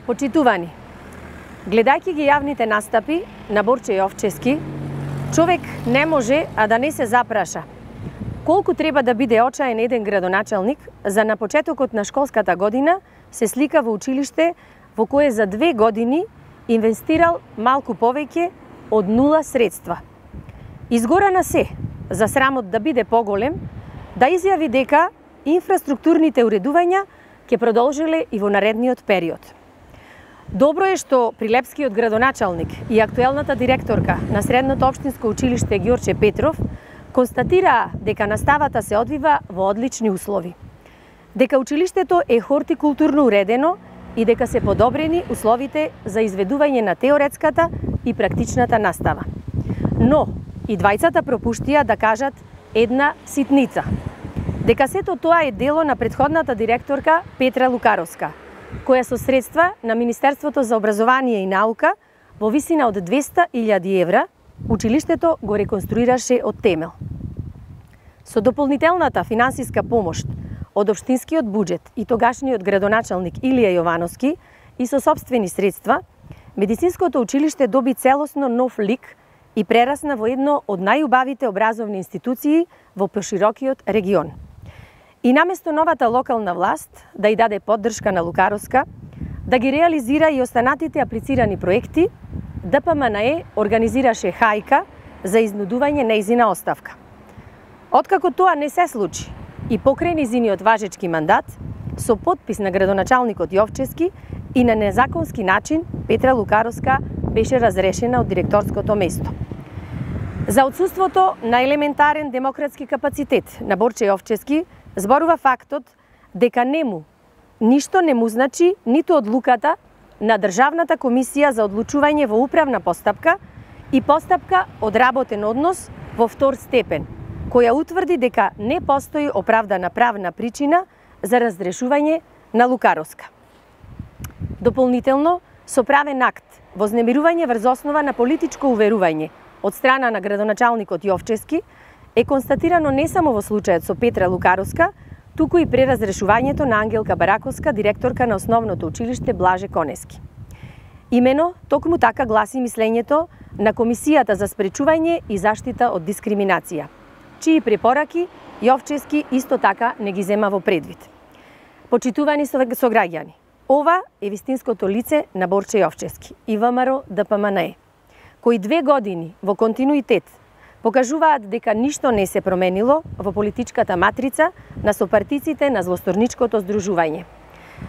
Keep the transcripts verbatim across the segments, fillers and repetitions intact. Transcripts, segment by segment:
Почитувани, гледајќи ги јавните настапи на Борче Јовчевски, човек не може а да не се запраша колку треба да биде очаен еден градоначалник за на почетокот на школската година се слика во училиште во кое за две години инвестирал малку повеќе од нула средства. Изгора на се, за срамот да биде поголем, да изјави дека инфраструктурните уредувања ќе продолжиле и во наредниот период. Добро е што прилепскиот градоначалник и актуелната директорка на Средното општинско училиште Ѓорче Петров констатираа дека наставата се одвива во одлични услови, дека училиштето е хортикултурно уредено и дека се подобрени условите за изведување на теоретската и практичната настава. Но и двајцата пропуштија да кажат една ситница, дека сето тоа е дело на претходната директорка Петра Лукаровска, која со средства на Министерството за образование и наука во висина од двеста илјади евра училиштето го реконструираше од темел. Со дополнителната финансиска помош од општинскиот буџет и тогашниот градоначалник Илија Јовановски и со сопствени средства, медицинското училиште доби целосно нов лик и прерасна во едно од најубавите образовни институции во поширокиот регион. И наместо новата локална власт да ја даде поддршка на Лукаровска, да ги реализира и останатите аплицирани проекти, Д П М Н Е организираше хајка за изнудување нејзина оставка. Откако тоа не се случи и покрај нејзиниот важечки мандат, со подпис на градоначалникот Јовчевски и на незаконски начин Петра Лукаровска беше разрешена од директорското место. За отсуството на елементарен демократски капацитет на Борче Јовчевски зборува фактот дека нему ништо не му значи ниту одлуката на Државната комисија за одлучување во управна постапка и постапка од работен однос во втор степен, која утврди дека не постои оправдана правна причина за разрешување на Лукаровска. Дополнително, со правен акт вознемирување врз основа на политичко уверување од страна на градоначалникот Јовчевски е констатирано не само во случајот со Петра Лукаровска, туку и при разрешувањето на Ангелка Бараковска, директорка на основното училиште Блаже Конески. Имено, токму така гласи мислењето на Комисијата за спречување и заштита од дискриминација, чии препораки Јовчевски исто така не ги зема во предвид. Почитувани сограѓани, ова е вистинското лице на Борче Јовчевски и В М Р Д П М Н Е, кои две години во континуитет покажуваат дека ништо не се променило во политичката матрица на сопартиците на злосторничкото здружување.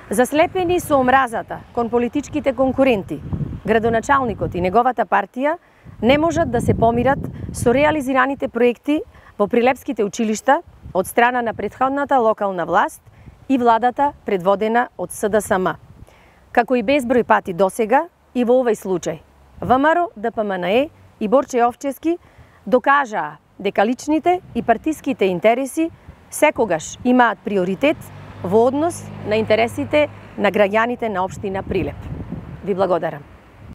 Заслепени со омразата кон политичките конкуренти, градоначалникот и неговата партија не можат да се помират со реализираните проекти во прилепските училишта од страна на претходната локална власт и владата предводена од С Д С М. Како и безброј пати досега и во овој случај, В М Р Д П М Н Е и Борче Јовчевски докажаа дека личните и партиските интереси секогаш имаат приоритет во однос на интересите на граѓаните на општина Прилеп. Ви благодарам.